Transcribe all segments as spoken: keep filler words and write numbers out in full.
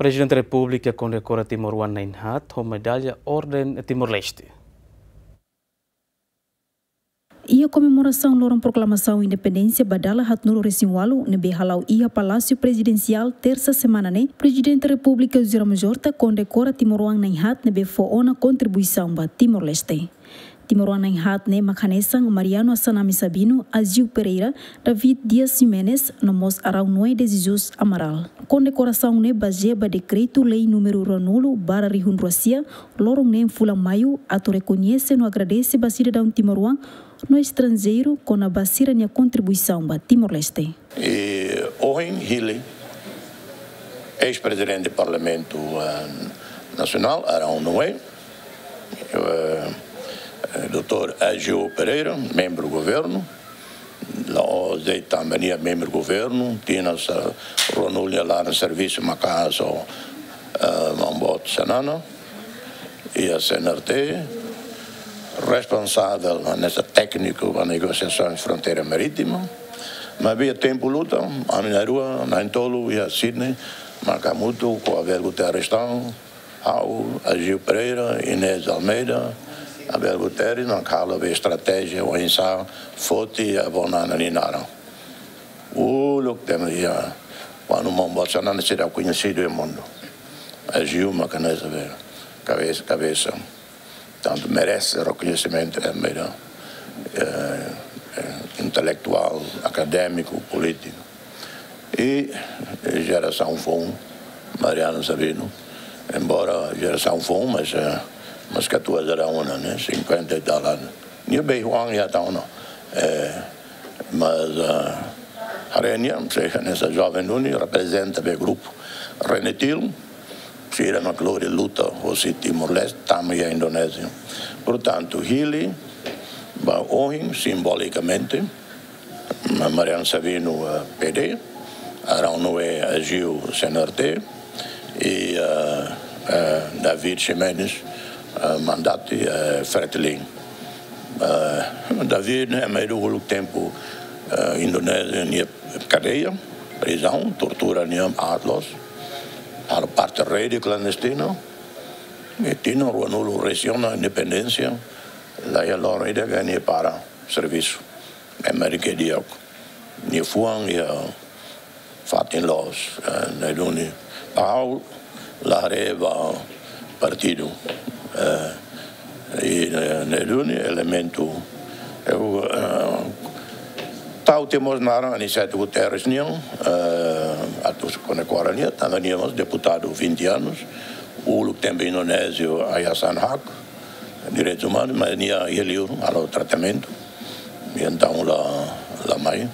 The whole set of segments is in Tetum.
Prezidente Repúblika kondekora timoroan na'in-haat ho medalla Orden Timor-Leste. Iha komemorasaun loron proklamasaun independénsia ba dala haatnulu-resin-ualu ne'ebé hala'o iha Palásiu Prezidensiál, tersa semana ne'e, Prezidente Repúblika José Ramos Horta kondekora timoroan na'in-haat ne'ebé fó ona kontribuisaun ba Timor-Leste. Timoroan na'in-haat ne'e mak hanesan Mariano Assanami Sabino, Agio Pereira, David Dias Ximenes, no mós Araúnue de Jesus Amaral. Kondekorasaun ne'e bazeia ba dekretu-lei númeru ruanulu barra rihun rua sia, loron neen fulan maiu, atu rekoñese no agradese ba sidadaun timoroan no estranjeiru kona-ba sira-nia kontribuisaun ba Timor-Leste. I ohin hili eis-prezidente Parlamentu, eh, Nasionál, Araúnue, eh, eh, doutór Agio Pereira, membru governu, la'ós de'it tanba nia membru governu, tinan sa-, ruanulu nia laran servisu maka'as ho, eh, maun boot Xanana, iha C N R T, responsavel hanesan tékniku ba negosiasaun fronteira marítima, maibé iha tempu luta, ami na'in-rua, na'in-tolu iha Sydney, maka hamutuk ho Abel Guterres tan, ha'u, Agio Pereira, Inês Almeida, Abel Guterres, no halo be estratéjia oinsá foti Avó Nana nia naran. Uluk tempu iha, kuandu maun boot Xanana seidauk koñesidu iha mundu. Agio maka hanesan be kabesa, kabesa. Tantu merese rekoñesimentu, eh, Almeida, eh, eh, intelektuál, akadémiku, polítiku. I, eh, jerasaun foun, Mariano Sabino, embora jerasaun foun, mas, eh, mas katuas daudaun, ne'e, cinquenta e tal anos. Nia beihuang iha tan ona. Eh, mas, eh, haree nia, sei hanesan joven duni, reprezenta be grupu Renetil, sira mak lori luta hosi Timor-Leste tama iha Indonézia. Portantu, hili ba ohin, simbolikamente, Ma-, Mariano Sabino, eh, P D, Araúnue Agio C N R T, i, eh, eh, David Ximenes, eh, Mandati, eh, Fretilin. Eh, David ne'e, mai uluk tempu, eh, Indonézia nia kadeia, prizaun, tortura nia aat loos, halo parte rede klandestina, i tinan ruanulu-resin-unu independénsia, la iha loron ida ke nia para servisu. Ema rike di'ak. Nia fuan iha fatin loos, eh, ne'e duni. Ha'u la haree ba partidu. Eh, i, eh, ne'e duni elementu. Ha'u, eh, tau tiha mós naran Aniceto Guterres nian, eh, atu kondekora nia, tanba nia mós deputadu vinte anos, uluk tempu Indonézia, Yayasan Hak, direitus umanus, mas nia iha liur halo tratamentu. I entaun la, la mai.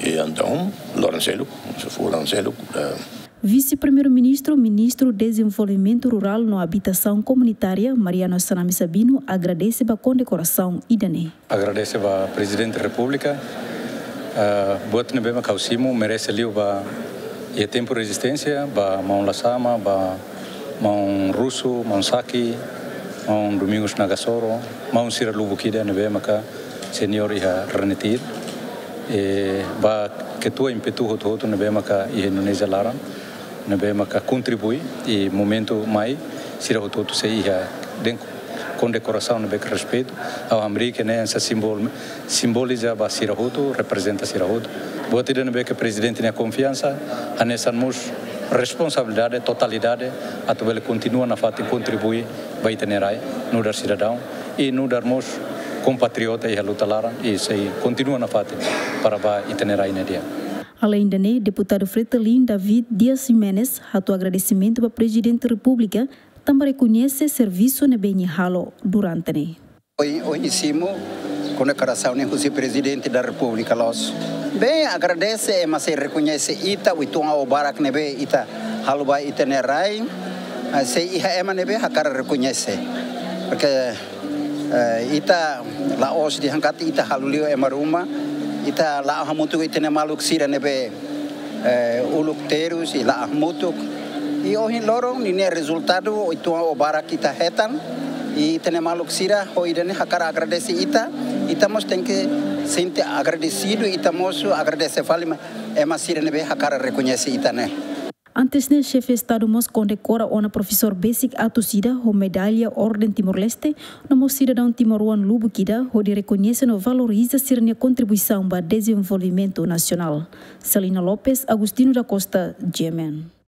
I entaun, loron seluk, fulan seluk, eh. Vise-Primeiru-Ministru, Ministru Dezenvolvimentu Rurál no Abitasaun Komunitária, Mariano Assanami Sabino, agradese ba kondekorasaun ida-ne'e. Agradese ba Prezidente Repúblika, eh, buat ne'ebé mak ha'u simu merese liu ba iha tempu rezisténsia, ba maun Lasama, ba maun Rusu, maun Saki, maun Domingos Nagasoro, maun sira lubuk ida ne'ebé maka seniór iha Renetil. I ba ketua impetu hotu-hotu ne'ebé maka iha Indonézia laran, ne'ebé maka kontribui, i momentu mai sira hotu-hotu sei iha dehan kondekorasaun ne'ebé ke respeitu, ha'u hamriik ne'e hanesan simbol, simboliza ba sira hotu, reprezenta sira hotu. Buat ida ne'ebé ke Prezidente nia konfiansa, hanesan mós responsabilidade, totalidade, atu bele kontinua nafatin kontribui ba ita-nia rai, nu'udar sidadaun, i nu'udar mós kompatriota iha luta laran, i sei kontinua nafatin para ba ita-nia rai ne'e di'ak. Aleinde ne'e, Deputadu Fretilin David Dias Ximenes hato'o agradesimentu ba Prezidente Repúblika, tanba rekoñese servisu ne'ebé nia halo durante ne'e. Ohin, ohin simu kondekorasaun ne'e husi Prezidente da Repúblika loos. Bem, agradese, ema sei rekoñese ita, uitoan ho barak ne'ebé ita halo ba ita-nia rai, eh, sei iha ema ne'ebé hakarak rekoñese. Porque, eh, ita la'ós dehan katak ita halo liu ema ruma, ita la'o hamutuk ho ita-nia maluk sira ne'ebé eh, uluk terus i la'o hamutuk. I ohin loron ninia rezultadu uitoan ho barak ita hetan. I ita-nia maluk sira ho ida-ne'e hakarak agradese ita. Ita mós tenke sente agradesidu, ita mós agradese fali mai ema sira ne'ebé hakarak rekoñese ita ne'e. Antes ne'e, Xefe Estadu mós kondekora ona profesór besik atus ida ho medalla Orden Timor-Leste, no mós sidadaun timoroan lubuk ida, hodi rekoñese no valoriza sira-nia kontribuisaun ba dezenvolvimentu nasionál. Celina Lopes, Agostinho da Costa, G M N.